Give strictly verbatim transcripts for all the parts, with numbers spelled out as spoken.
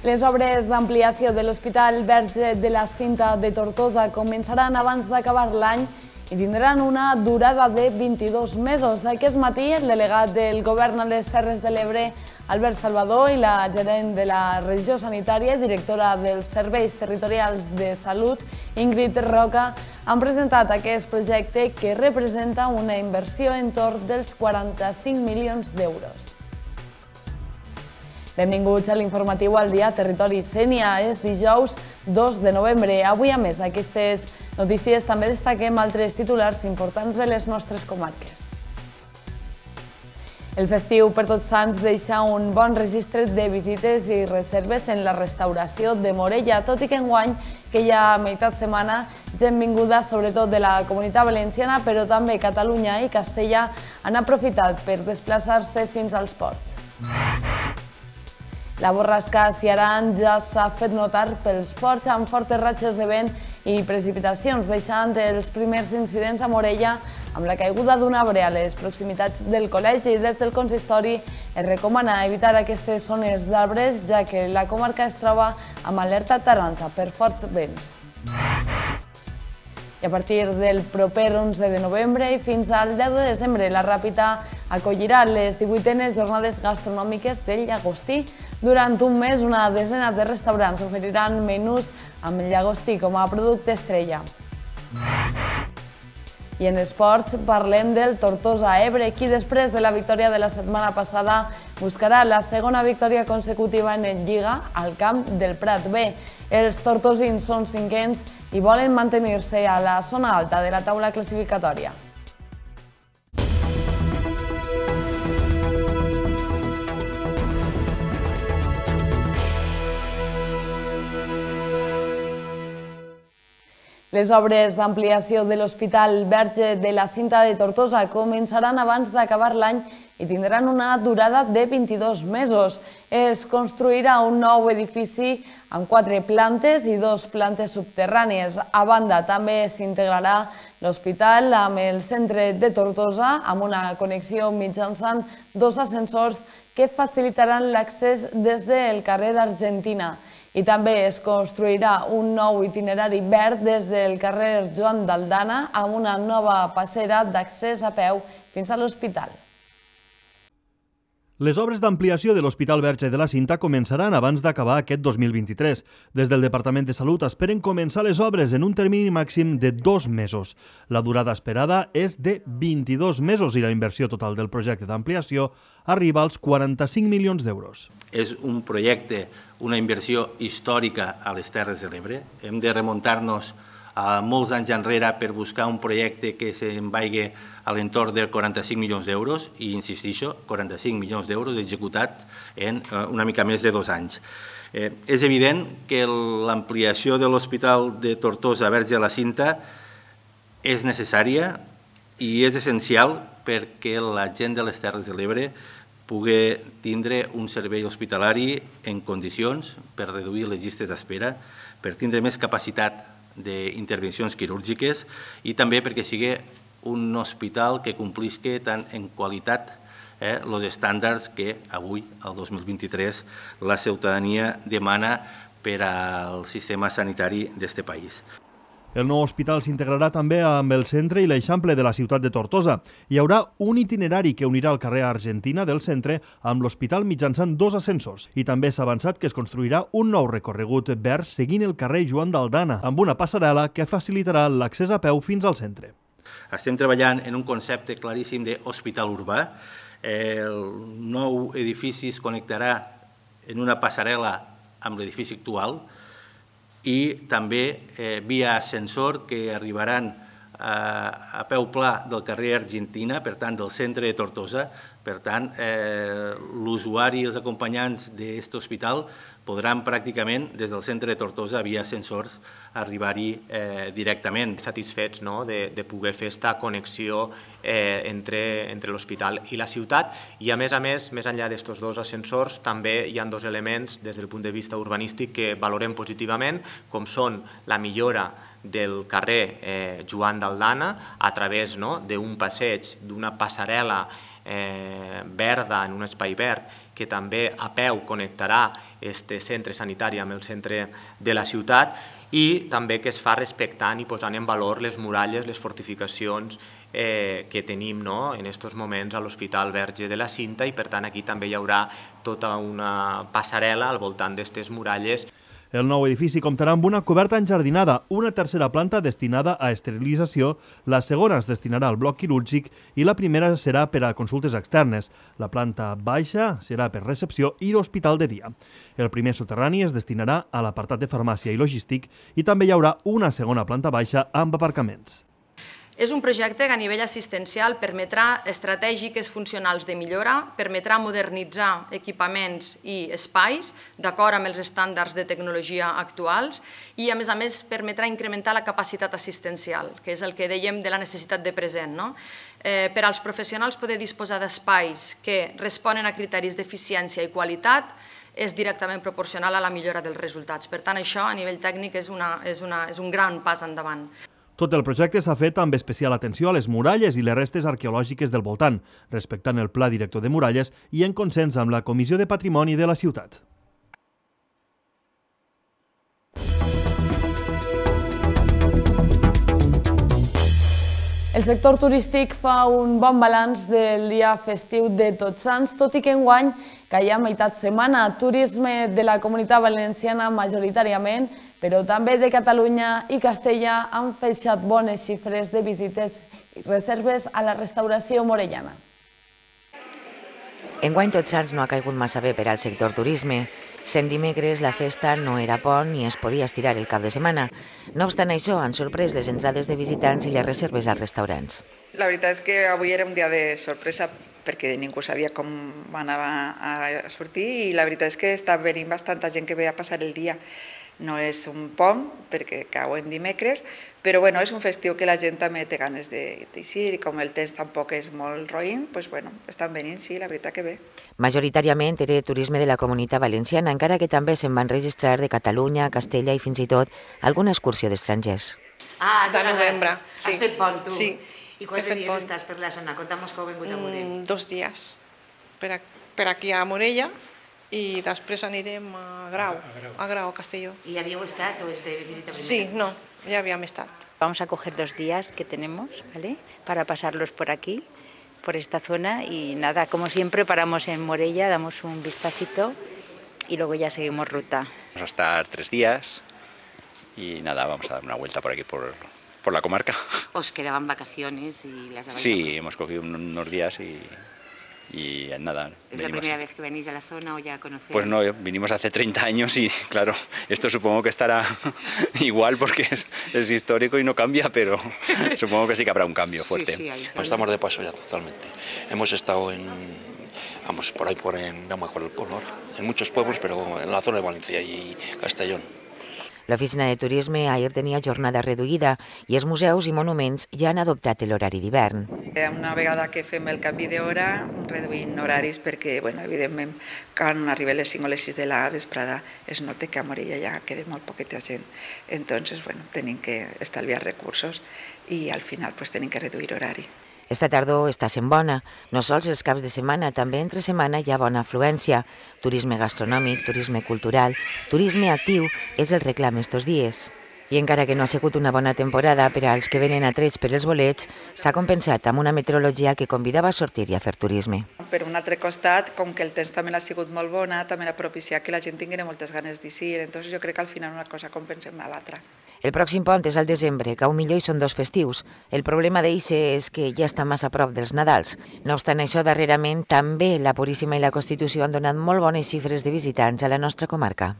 Les obres d'ampliació de l'Hospital Verge de la Cinta de Tortosa començaran abans d'acabar l'any i tindran una durada de vint-i-dos mesos. Aquest matí, el delegat del Govern a les Terres de l'Ebre, Albert Salvador, i la gerent de la regió sanitària i directora dels Serveis Territorials de Salut, Ingrid Roca, han presentat aquest projecte que representa una inversió entorn dels quaranta-cinc milions d'euros. Benvinguts a l'informatiu al dia Territori Sénia. És dijous dos de novembre. Avui, a més d'aquestes notícies, també destaquem altres titulars importants de les nostres comarques. El festiu per Tots Sants deixa un bon registre de visites i reserves en la restauració de Morella, tot i que enguany, que hi ha meitat setmana, gent vinguda sobretot de la Comunitat Valenciana, però també Catalunya i Castella han aprofitat per desplaçar-se fins als ports. La borrasca Ciarán ja s'ha fet notar pels ports amb fortes ratxes de vent i precipitacions, deixant els primers incidents a Morella amb la caiguda d'un arbre a les proximitats del col·legi. Des del consistori es recomana evitar aquestes zones d'arbres, ja que la comarca es troba amb alerta taronja per forts vents. I a partir del proper onze de novembre i fins al deu de desembre, la Ràpita acollirà les divuitenes jornades gastronòmiques del llagostí. Durant un mes, una desena de restaurants oferiran menús amb el llagostí com a producte estrella. I en esports parlem del Tortosa Ebre, qui després de la victòria de la setmana passada buscarà la segona victòria consecutiva en el Lliga al camp del Prat B. Els tortosins són cinquens i volen mantenir-se a la zona alta de la taula classificatòria. Les obres d'ampliació de l'Hospital Verge de la Cinta de Tortosa començaran abans d'acabar l'any i tindran una durada de vint-i-dos mesos. Es construirà un nou edifici amb quatre plantes i dues plantes subterrànies. A banda, també s'integrarà l'hospital amb el centre de Tortosa, amb una connexió mitjançant dos ascensors que facilitaran l'accés des del carrer Argentina. I també es construirà un nou itinerari verd des del carrer Joan d'Aldana amb una nova passera d'accés a peu fins a l'hospital. Les obres d'ampliació de l'Hospital Verge de la Cinta començaran abans d'acabar aquest dos mil vint-i-tres. Des del Departament de Salut esperen començar les obres en un termini màxim de dos mesos. La durada esperada és de vint-i-dos mesos i la inversió total del projecte d'ampliació arriba als quaranta-cinc milions d'euros. És un projecte, una inversió històrica a les Terres de l'Ebre. Hem de remuntar-nos a molts anys enrere per buscar un projecte que se'n vagi a l'entorn de quaranta-cinc milions d'euros i, insistixo, quaranta-cinc milions d'euros executats en una mica més de dos anys. Eh, és evident que l'ampliació de l'Hospital de Tortosa Verge de la Cinta és necessària i és essencial perquè la gent de les Terres de l'Ebre pugui tindre un servei hospitalari en condicions per reduir les llistes d'espera, per tindre més capacitat d'intervencions quirúrgiques i també perquè sigui un hospital que complisca tant en qualitat els estàndards que avui, el dos mil vint-i-tres, la ciutadania demana per al sistema sanitari d'aquest país. El nou hospital s'integrarà també amb el centre i l'eixample de la ciutat de Tortosa. Hi haurà un itinerari que unirà el carrer Argentina del centre amb l'hospital mitjançant dos ascensors. I també s'ha avançat que es construirà un nou recorregut verd seguint el carrer Joan d'Aldana, amb una passarel·la que facilitarà l'accés a peu fins al centre. Estem treballant en un concepte claríssim d'hospital urbà. El nou edifici es connectarà en una passarel·la amb l'edifici actual, i també via ascensor que arribaran a peu pla del carrer Argentina, per tant, del centre de Tortosa. Per tant, l'usuari i els acompanyants d'aquest hospital podran pràcticament, des del centre de Tortosa, via ascensors, arribar-hi directament. Satisfets de poder fer aquesta connexió entre l'hospital i la ciutat i, a més a més, més enllà d'aquests dos ascensors, també hi ha dos elements des del punt de vista urbanístic que valorem positivament, com són la millora del carrer Joan d'Aldana a través d'un passeig, d'una passarel·la eh, verda, en un espai verd, que també a peu connectarà este centre sanitari amb el centre de la ciutat, i també que es fa respectant i posant en valor les muralles, les fortificacions eh, que tenim no? en aquests moments a l'Hospital Verge de la Cinta, i per tant aquí també hi haurà tota una passarel·la al voltant d'aquestes muralles. El nou edifici comptarà amb una coberta enjardinada, una tercera planta destinada a esterilització, la segona es destinarà al bloc quirúrgic i la primera serà per a consultes externes. La planta baixa serà per recepció i l'hospital de dia. El primer soterrani es destinarà a l'apartat de farmàcia i logístic i també hi haurà una segona planta baixa amb aparcaments. És un projecte que a nivell assistencial permetrà estratègiques funcionals de millora, permetrà modernitzar equipaments i espais d'acord amb els estàndards de tecnologia actuals i, a més a més, permetrà incrementar la capacitat assistencial, que és el que dèiem de la necessitat de present. No? Eh, per als professionals poder disposar d'espais que responen a criteris d'eficiència i qualitat és directament proporcional a la millora dels resultats. Per tant, això a nivell tècnic és, una, és, una, és un gran pas endavant. Tot el projecte s'ha fet amb especial atenció a les muralles i les restes arqueològiques del voltant, respectant el Pla Director de Muralles i en consens amb la Comissió de Patrimoni de la ciutat. El sector turístic fa un bon balanç del dia festiu de Tots Sants, tot i que enguany caia a meitat setmana. Turisme de la Comunitat Valenciana majoritàriament, però també de Catalunya i Castella han feixat bones xifres de visites i reserves a la restauració morellana. Enguany Tots Sants no ha caigut massa bé per al sector turisme. Sent dimecres la festa no era pont ni es podia estirar el cap de setmana. No obstant això, han sorprès les entrades de visitants i les reserves als restaurants. La veritat és que avui era un dia de sorpresa perquè ningú sabia com anava a sortir i la veritat és que està venint bastanta gent que ve a passar el dia. No és un pont perquè cau en dimecres, però bueno, és un festiu que la gent també té ganes d'eixir i com el temps tampoc és molt roïn, doncs bueno, estan venint, sí, la veritat que bé. Majoritàriament era turisme de la Comunitat Valenciana, encara que també se'n van registrar de Catalunya, Castella i fins i tot alguna excursió d'estrangers. Ah, de novembre, sí. Has fet pont, tu? Sí. I quants dies estàs per la zona? Conta'm que heu vingut a Morell. Dos dies, per aquí a Morella, i després anirem a Grau, a Grau, a Castelló. ¿Y habíamos estado o es de visita primera? Sí, no, ya habíamos estado. Vamos a coger dos días que tenemos, ¿vale? Para pasarlos por aquí, por esta zona y nada, como siempre paramos en Morella, damos un vistacito y luego ya seguimos ruta. Vamos a estar tres días y nada, vamos a dar una vuelta por aquí, por, por la comarca. ¿Os quedaban vacaciones y las habéis Sí, cogido? hemos cogido unos días y... y nada. ¿Es la primera vez que venís a la zona o ya conocéis? Pues no, vinimos hace treinta años y claro, esto supongo que estará igual porque es, es histórico y no cambia, pero supongo que sí que habrá un cambio fuerte. Sí, sí, no, estamos de paso ya totalmente. Hemos estado en, vamos, por ahí, por en, no me acuerdo el pueblo ahora, en muchos pueblos, pero en la zona de Valencia y Castellón. L'oficina de turisme ahir tenia jornada reduïda i els museus i monuments ja han adoptat l'horari d'hivern. Una vegada que fem el canvi d'hora, reduïm horaris perquè, bueno, evidentment, quan arriben les cinc o les sis de la vesprada es nota que a Morella ja queda molt poqueta gent. Entonces, bueno, tenim que estalviar recursos i al final pues, tenim que reduir horari. Esta tardor està sent bona. No sols els caps de setmana, també entre setmana hi ha bona afluència. Turisme gastronòmic, turisme cultural, turisme actiu és el reclam estos dies. I encara que no ha sigut una bona temporada per als que venen atrets per els bolets, s'ha compensat amb una meteorologia que convidava a sortir i a fer turisme. Per un altre costat, com que el temps també ha sigut molt bona, també ha propiciat que la gent tingui moltes ganes d'eixir, entonces jo crec que al final una cosa compensa a l'altra. El pròxim pont és al desembre, que a un millor hi són dos festius. El problema d'eixe és que ja està massa a prop dels Nadals. No obstant això, darrerament, també la Puríssima i la Constitució han donat molt bones xifres de visitants a la nostra comarca.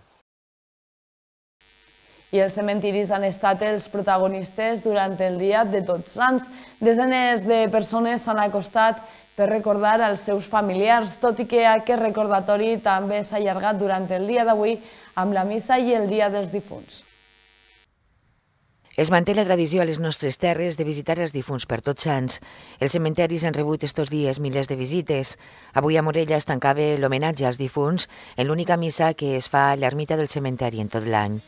I els cementiris han estat els protagonistes durant el dia de Tots Sants. Desenes de persones s'han acostat per recordar els seus familiars, tot i que aquest recordatori també s'ha allargat durant el dia d'avui amb la missa i el dia dels difunts. Es manté la tradició a les nostres terres de visitar els difunts per Tots Sants. Els cementaris han rebut estos dies milers de visites. Avui a Morella es tancava l'homenatge als difunts en l'única missa que es fa a l'ermita del cementeri en tot l'any.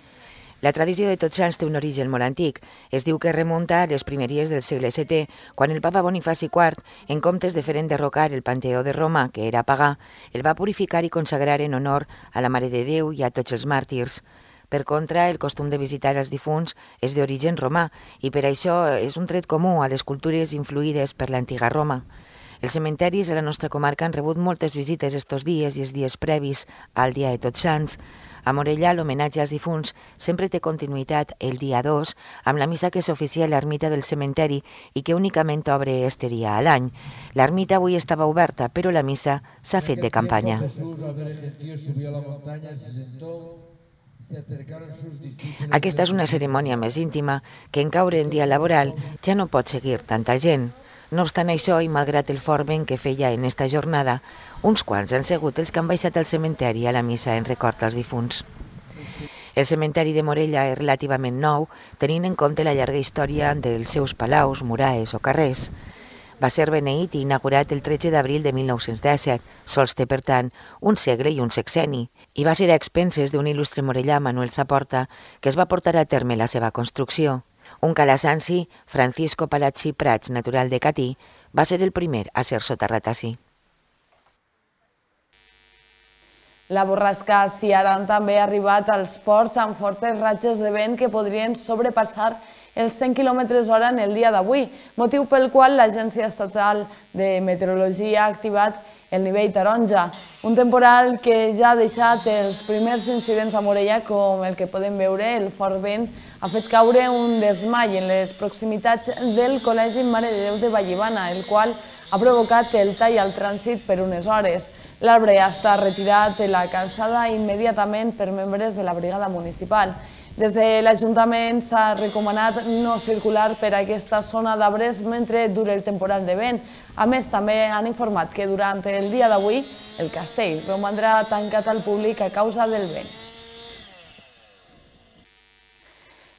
La tradició de Tots Sants té un origen molt antic. Es diu que remunta a les primeries del segle setè, quan el papa Bonifaci quart, en comptes de fer enderrocar el Panteó de Roma, que era pagà, el va purificar i consagrar en honor a la Mare de Déu i a tots els màrtirs. Per contra, el costum de visitar els difunts és d'origen romà i per això és un tret comú a les cultures influïdes per l'antiga Roma. Els cementaris a la nostra comarca han rebut moltes visites estos dies i els dies previs al Dia de Tots Sants. A Morella, l'homenatge als difunts sempre té continuïtat el dia dos, amb la missa que s'oficia a l'ermita del cementeri i que únicament obre este dia a l'any. L'ermita avui estava oberta, però la missa s'ha fet de campanya. Aquesta és una cerimònia més íntima que en caure en dia laboral ja no pot seguir tanta gent. No obstant això, i malgrat el fort vent que feia en esta jornada, uns quants han sigut els que han baixat al cementeri a la missa en record als difunts. El cementeri de Morella és relativament nou, tenint en compte la llarga història dels seus palaus, muraes o carrers. Va ser beneït i inaugurat el tretze d'abril de mil nou-cents disset, sols té, per tant, un segle i un sexenni, i va ser a expenses d'un il·lustre morellà, Manuel Zaporta, que es va portar a terme la seva construcció. Un calasanci, Francisco Palazzi Prats, natural de Catí, va ser el primer a ser soterrat ací. La borrasca Ciaran també ha arribat als ports amb fortes ratxes de vent que podrien sobrepassar els cent quilòmetres hora en el dia d'avui, motiu pel qual l'Agència Estatal de Meteorologia ha activat el nivell taronja. Un temporal que ja ha deixat els primers incidents a Morella, com el que podem veure, el fort vent, ha fet caure un desmai en les proximitats del Col·legi Mare de Déu de Vallibana, el qual ha provocat el tall al trànsit per unes hores. L'arbre ha estat retirat de la calçada immediatament per membres de la brigada municipal. Des de l'Ajuntament s'ha recomanat no circular per aquesta zona d'arbres mentre dure el temporal de vent. A més, també han informat que durant el dia d'avui el castell romandrà tancat al públic a causa del vent.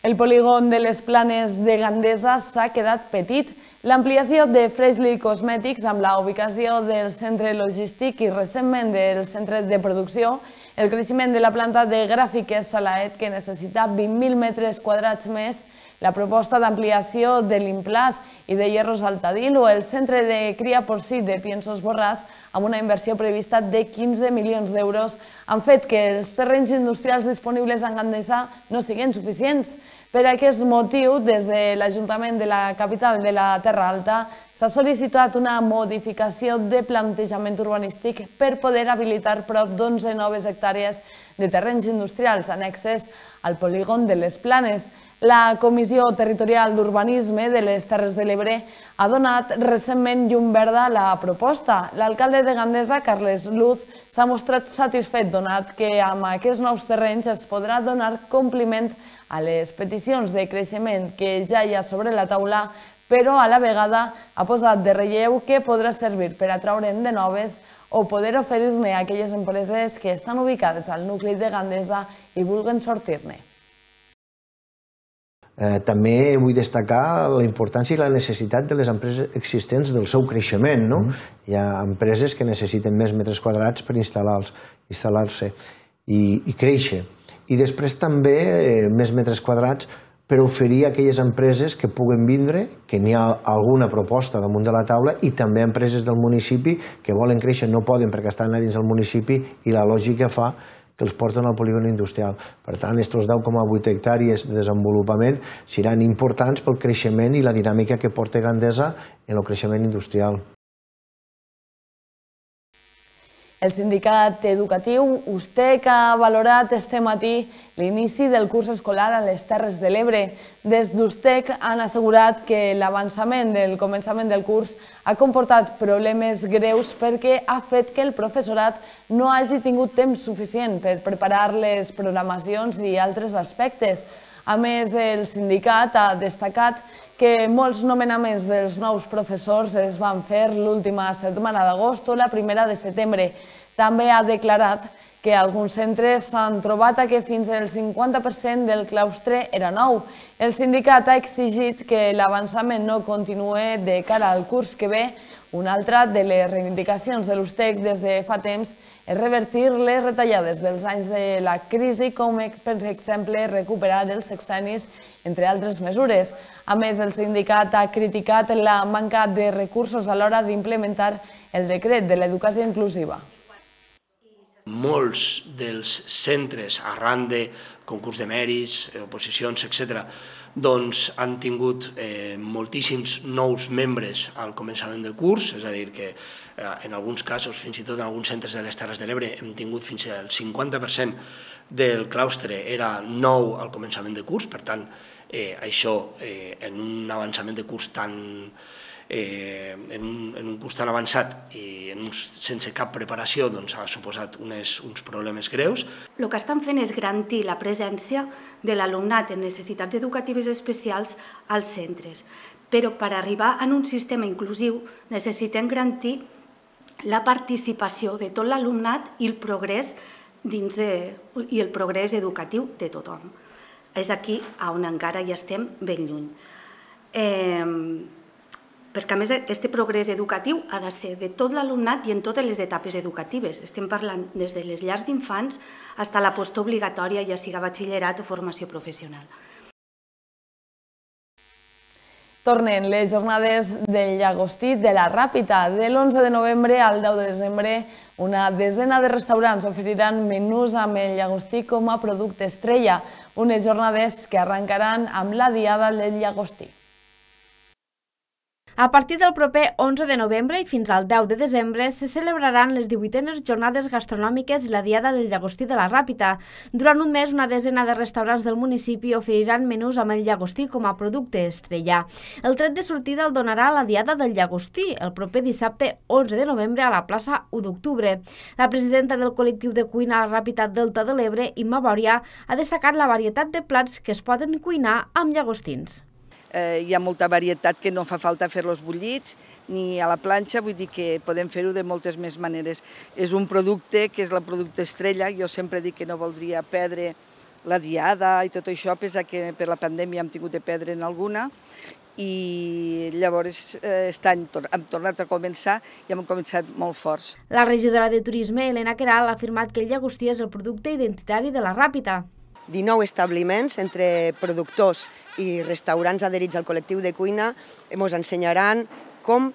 El polígon de les Planes de Gandesa s'ha quedat petit. L'ampliació de Freshly Cosmetics amb la ubicació del centre logístic i recentment del centre de producció, el creixement de la planta de gràfiques Salaet, que necessita vint mil metres quadrats més, la proposta d'ampliació de l'Implàs i de Hierros Altadil o el centre de cria porcí de Piensos Borràs, amb una inversió prevista de quinze milions d'euros, han fet que els terrenys industrials disponibles a Gandesa no siguin suficients. Per aquest motiu, des de l'Ajuntament de la capital de la Terra Alta, s'ha sol·licitat una modificació de plantejament urbanístic per poder habilitar prop d'onze noves hectàrees de terrenys industrials annexes al polígon de les Planes. La Comissió Territorial d'Urbanisme de les Terres de l'Ebre ha donat recentment llum verda a la proposta. L'alcalde de Gandesa, Carles Luz, s'ha mostrat satisfet donat que amb aquests nous terrenys es podrà donar compliment a les peticions de creixement que ja hi ha sobre la taula, però a la vegada ha posat de relleu que podrà servir per atraure'n de noves o poder oferir-ne a aquelles empreses que estan ubicades al nucli de Gandesa i vulguen sortir-ne. També vull destacar la importància i la necessitat de les empreses existents del seu creixement. Hi ha empreses que necessiten més metres quadrats per instal·lar-se i créixer. I després també més metres quadrats per oferir a aquelles empreses que puguen vindre, que n'hi ha alguna proposta damunt de la taula, i també empreses del municipi que volen créixer, no poden perquè estan a dins del municipi i la lògica fa que els porten al polígon industrial. Per tant, aquests deu coma vuit hectàrees de desenvolupament seran importants pel creixement i la dinàmica que porta Gandesa en el creixement industrial. El sindicat educatiu USTEC ha valorat este matí l'inici del curs escolar a les Terres de l'Ebre. Des d'USTEC han assegurat que l'avançament del començament del curs ha comportat problemes greus perquè ha fet que el professorat no hagi tingut temps suficient per preparar les programacions i altres aspectes. A més, el sindicat ha destacat que molts nomenaments dels nous professors es van fer l'última setmana d'agost o la primera de setembre. També ha declarat que alguns centres s'han trobat que fins al cinquanta per cent del claustre era nou. El sindicat ha exigit que l'avançament no continuï de cara al curs que ve. Una altra de les reivindicacions de l'U S T E C des de fa temps és revertir les retallades dels anys de la crisi, com per exemple recuperar els sexennis, entre altres mesures. A més, el sindicat ha criticat la manca de recursos a l'hora d'implementar el decret de l'educació inclusiva. Molts dels centres, arran de concurs de mèrits, oposicions, etcètera, doncs han tingut moltíssims nous membres al començament del curs, és a dir, que en alguns casos, fins i tot en alguns centres de les Terres de l'Ebre, hem tingut fins al cinquanta per cent del claustre era nou al començament de curs, per tant, això en un avançament de curs tan en un curs tan avançat i sense cap preparació ha suposat uns problemes greus. El que estan fent és garantir la presència de l'alumnat en necessitats educatives especials als centres, però per arribar a un sistema inclusiu necessitem garantir la participació de tot l'alumnat i el progrés i el progrés educatiu de tothom. És aquí on encara hi estem ben lluny. Perquè, a més, aquest progrés educatiu ha de ser de tot l'alumnat i en totes les etapes educatives. Estem parlant des de les llars d'infants fins a la postobligatòria, ja siga batxillerat o formació professional. Tornen les jornades del llagostí de la Ràpita. De l'onze de novembre al deu de desembre, una desena de restaurants oferiran menús amb el llagostí com a producte estrella, unes jornades que arrencaran amb la Diada del Llagostí. A partir del proper onze de novembre i fins al deu de desembre se celebraran les divuitenes jornades gastronòmiques i la Diada del Llagostí de la Ràpita. Durant un mes, una desena de restaurants del municipi oferiran menús amb el llagostí com a producte estrella. El tret de sortida el donarà la Diada del Llagostí, el proper dissabte onze de novembre a la plaça u d'octubre. La presidenta del col·lectiu de cuina a la Ràpita Delta de l'Ebre, Imma Bòria, ha destacat la varietat de plats que es poden cuinar amb llagostins. Hi ha molta varietat que no fa falta fer-los bullits ni a la planxa, vull dir que podem fer-ho de moltes més maneres. És un producte que és el producte estrella, jo sempre dic que no voldria perdre la Diada i tot això, pesa que per la pandèmia hem tingut de perdre en alguna, i llavors aquest any hem tornat a començar i hem començat molt forts. La regidora de Turisme, Helena Queralt, ha afirmat que el llagostí és el producte identitari de la Ràpita. dinou establiments entre productors i restaurants adherits al col·lectiu de cuina ens ensenyaran com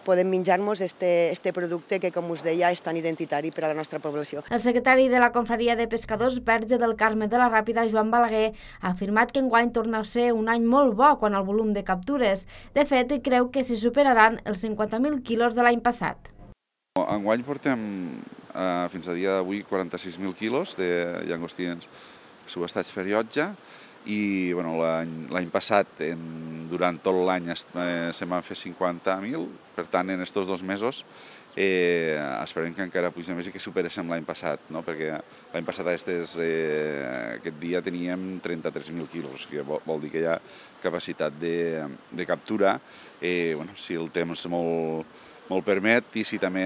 podem menjar-nos aquest producte que, com us deia, és tan identitari per a la nostra població. El secretari de la Confraria de Pescadors Verge del Carme de la Ràpita, Joan Balaguer, ha afirmat que enguany torna a ser un any molt bo quant al volum de captures. De fet, creu que s'hi superaran els cinquanta mil quilos de l'any passat. Enguany portem fins a dia d'avui quaranta-sis mil quilos de llagostins subestats per llotja i l'any passat, durant tot l'any, se'n van fer cinquanta mil, per tant, en aquests dos mesos esperem que encara pugui més i que superéssim l'any passat, perquè l'any passat aquest dia teníem trenta-tres mil quilos, que vol dir que hi ha capacitat de captura, si el temps molt molt permet i si també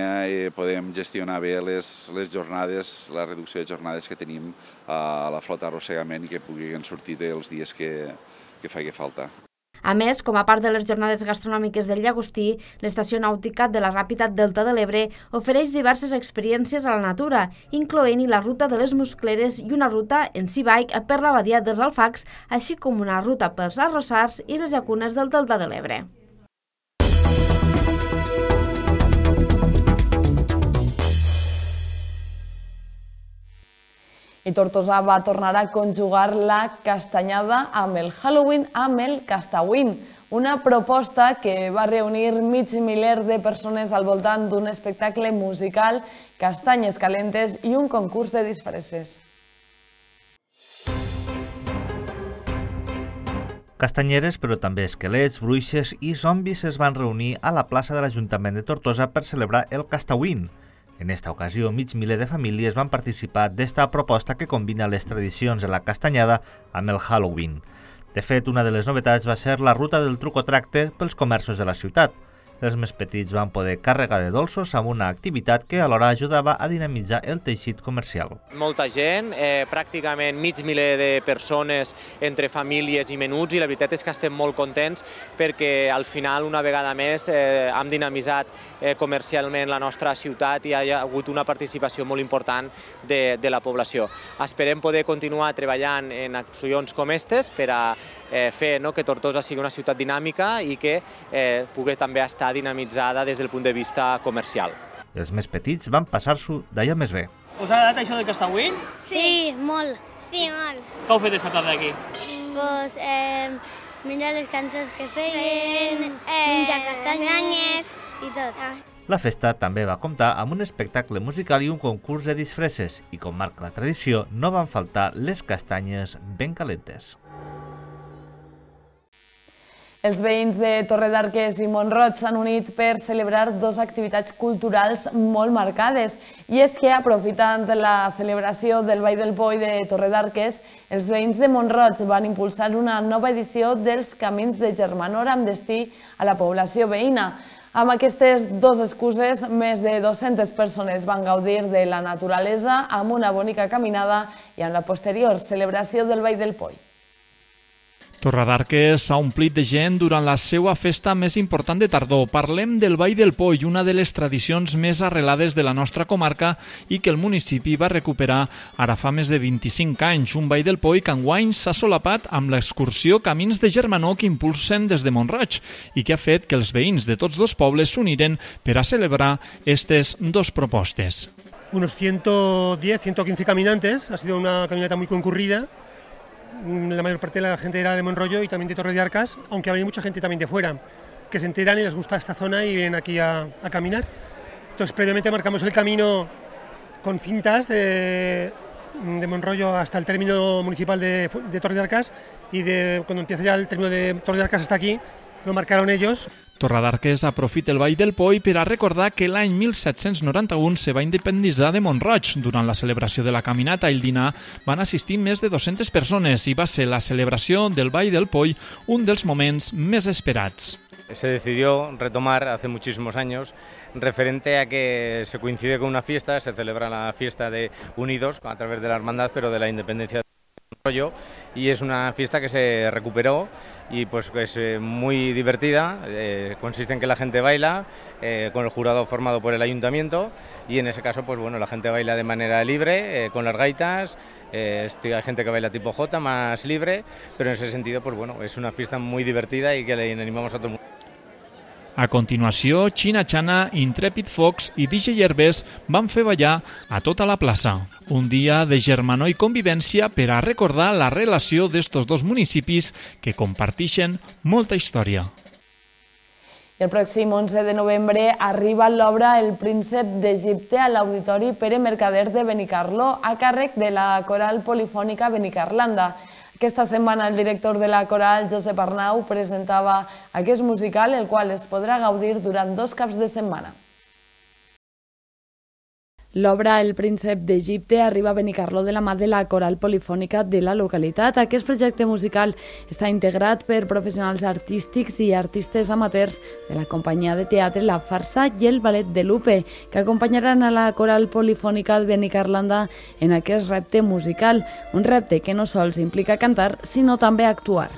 podem gestionar bé les jornades, la reducció de jornades que tenim a la flota arrossegament i que puguin sortir els dies que faci falta. A més, com a part de les jornades gastronòmiques del llagostí, l'estació nàutica de la Ràpita Delta de l'Ebre ofereix diverses experiències a la natura, incloent-hi la ruta de les Muscleres i una ruta en sea-bike per la badia dels Alfacs, així com una ruta pels arrossars i les llacunes del Delta de l'Ebre. I Tortosa va tornar a conjugar la castanyada amb el Halloween amb el Castawin, una proposta que va reunir mig miler de persones al voltant d'un espectacle musical, castanyes calentes i un concurs de disfresses. Castanyeres, però també esquelets, bruixes i zombis es van reunir a la plaça de l'Ajuntament de Tortosa per celebrar el Castawin. En esta ocasió, mig miler de famílies van participar d'esta proposta que combina les tradicions de la castanyada amb el Halloween. De fet, una de les novetats va ser la ruta del truc o tracte pels comerços de la ciutat. Els més petits van poder carregar de dolços amb una activitat que alhora ajudava a dinamitzar el teixit comercial. Molta gent, eh, pràcticament mig miler de persones entre famílies i menuts, i la veritat és que estem molt contents perquè al final, una vegada més, eh, hem dinamitzat eh, comercialment la nostra ciutat i hi ha hagut una participació molt important de, de la població. Esperem poder continuar treballant en accions com aquestes per a eh, fer no, que Tortosa sigui una ciutat dinàmica i que eh, pugui també estar dinamitzada des del punt de vista comercial. Els més petits van passar-s'ho d'allò més bé. Us ha agradat això del Castawin? Sí, molt. Sí, molt. Què heu fet aquesta tarda aquí? Pues, eh, mirar les cançons que feien, menjar castanyes i tot. La festa també va comptar amb un espectacle musical i un concurs de disfresses i, com marca la tradició, no van faltar les castanyes ben calentes. Els veïns de Torredarques i Mont-roig s'han unit per celebrar dues activitats culturals molt marcades. I és que, aprofitant la celebració del Ball del Poi de Torredarques, els veïns de Mont-roig van impulsar una nova edició dels Camins de Germanor amb destí a la població veïna. Amb aquestes dues excuses, més de dues-centes persones van gaudir de la naturalesa amb una bonica caminada i amb la posterior celebració del Ball del Poi. Torredarques s'ha omplit de gent durant la seva festa més important de tardor. Parlem del Ball del Poi, una de les tradicions més arrelades de la nostra comarca i que el municipi va recuperar ara fa més de vint-i-cinc anys. Un Ball del Poi que enguany s'ha solapat amb l'excursió Camins de Germanor que impulsen des de Mont-roig i que ha fet que els veïns de tots dos pobles s'uniren per a celebrar aquestes dos propostes. Unos ciento diez, ciento quince caminantes, ha sido una caminata muy concurrida. La mayor parte de la gente era de Monrollo y también de Torredarcas, aunque había mucha gente también de fuera, que se enteran y les gusta esta zona y vienen aquí a, a caminar. Entonces, previamente marcamos el camino con cintas de, de Monrollo hasta el término municipal de, de Torredarcas y de, cuando empieza ya el término de Torredarcas hasta aquí, lo marcaron ellos. Torredarques aprofita el Ball del Poi per a recordar que l'any mil set-cents noranta-u se va independitzar de Mont-roig. Durant la celebració de la caminata i el dinar van assistir més de dues-centes persones i va ser la celebració del Ball del Poi un dels moments més esperats. Se decidió retomar hace muchísimos años referente a que se coincide con una fiesta, se celebra la fiesta de Unidos a través de la hermandad, pero de la independencia de Rollo, y es una fiesta que se recuperó y pues es muy divertida, eh, consiste en que la gente baila eh, con el jurado formado por el ayuntamiento y en ese caso pues bueno, la gente baila de manera libre, eh, con las gaitas, eh, hay gente que baila tipo Jota, más libre, pero en ese sentido pues bueno, es una fiesta muy divertida y que le animamos a todo el mundo. A continuació, Xina Xana, Intrepid Fox i D J Yerbes van fer ballar a tota la plaça. Un dia de germanor i convivència per a recordar la relació d'estos dos municipis que comparteixen molta història. I el pròxim onze de novembre arriba l'obra El príncep d'Egipte a l'Auditori Pere Mercader de Benicarló a càrrec de la Coral Polifònica Benicarlanda. Aquesta setmana el director de la coral, Josep Arnau, presentava aquest musical, el qual es podrà gaudir durant dos caps de setmana. L'obra El príncep d'Egipte arriba a Benicarló de la mà de la coral polifònica de la localitat. Aquest projecte musical està integrat per professionals artístics i artistes amateurs de la companyia de teatre La Farsa i el Ballet de Lupe, que acompanyaran a la coral polifònica de Benicarlanda en aquest repte musical, un repte que no sols implica cantar, sinó també actuar.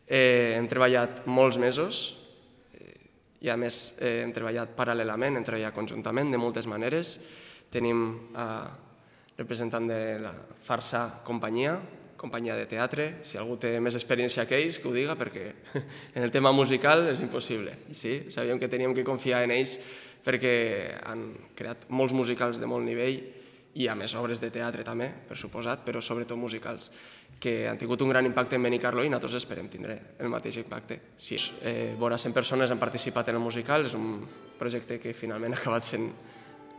Eh, hem treballat molts mesos i a més eh, hem treballat paral·lelament, hem treballat conjuntament de moltes maneres. Tenim eh, representant de la Farsa companyia, companyia de teatre. Si algú té més experiència que ells, que ho diga, perquè en el tema musical és impossible. Sí? Sabíem que teníem que confiar en ells perquè han creat molts musicals de molt nivell i a més obres de teatre també, per suposat, però sobretot musicals, que han tingut un gran impacte en Benicarló i nosaltres esperem tindre el mateix impacte. Sí, eh, vora cent persones han participat en el musical, és un projecte que finalment ha acabat sent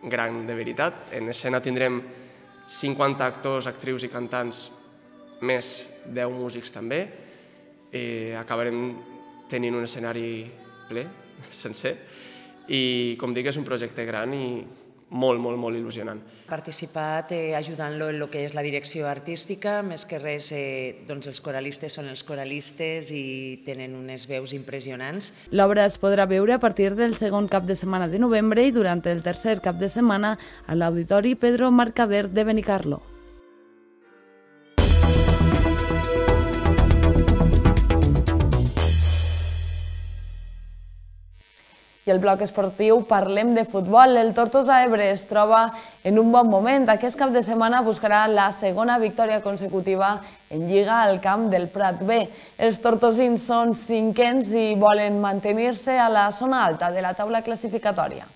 gran de veritat. En escena tindrem cinquanta actors, actrius i cantants, més deu músics també. Eh, acabarem tenint un escenari ple, sencer, i com dic és un projecte gran i molt, molt, molt il·lusionant. He participat eh, ajudant-lo en el que és la direcció artística, més que res eh, doncs els coralistes són els coralistes i tenen unes veus impressionants. L'obra es podrà veure a partir del segon cap de setmana de novembre i durant el tercer cap de setmana a l'Auditori Pedro Mercader de Benicarló. I el bloc esportiu parlem de futbol. El Tortosa Ebre es troba en un bon moment. Aquest cap de setmana buscarà la segona victòria consecutiva en Lliga al camp del Prat B. Els tortosins són cinquens i volen mantenir-se a la zona alta de la taula classificatòria.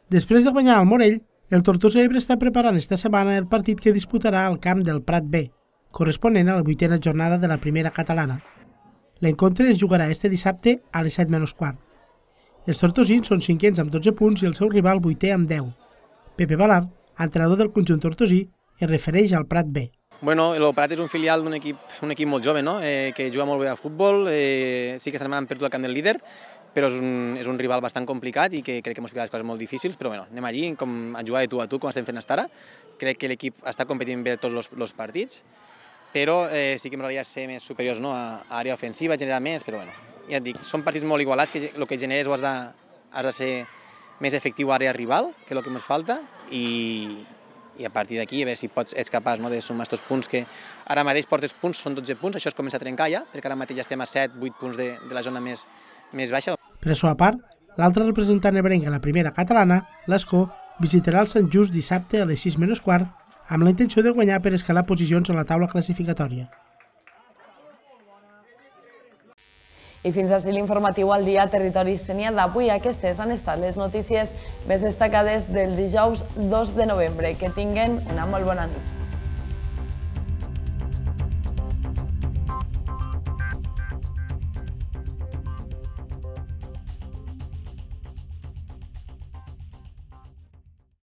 Després de guanyar al Morell, el Tortosa Ebre està preparant esta setmana el partit que disputarà al camp del Prat B, corresponent a la vuitena jornada de la primera catalana. L'encontre es jugarà este dissabte a les set menys quart. Els tortosins són cinquens amb dotze punts i el seu rival vuitè amb deu. Pepe Balart, entrenador del conjunt tortosí, es refereix al Prat B. Bueno, el Prat és un filial d'un equip, un equip molt jove, no? eh, que juga molt bé a futbol. Eh, sí que esta setmana han perdut el camp del líder, però és un, és un rival bastant complicat i que crec que ens ficarà les coses molt difícils, però bueno, anem allí com a jugar de tu a tu, com estem fent fins ara. Crec que l'equip està competint bé tots els partits, però eh, sí que m'agradaria ser més superiors, no? a, a àrea ofensiva, generar més, però bueno, ja et dic, són partits molt igualats, que el que generes has de, has de ser més efectiu a àrea rival, que és el que ens falta, i, i a partir d'aquí a veure si pots, ets capaç, no? de sumar aquests punts que ara mateix portes punts, són dotze punts, això es comença a trencar ja, perquè ara mateix ja estem a set vuit punts de, de la zona més, més baixa. Per això a part, l'altre representant ebrenc a la primera catalana, l'Escó, visitarà el Sant Just dissabte a les sis menys quart, amb la intenció de guanyar per escalar posicions a la taula classificatòria. I fins així l'informatiu al dia Territori Sénia d'avui. Aquestes han estat les notícies més destacades del dijous dos de novembre. Que tinguen una molt bona nit.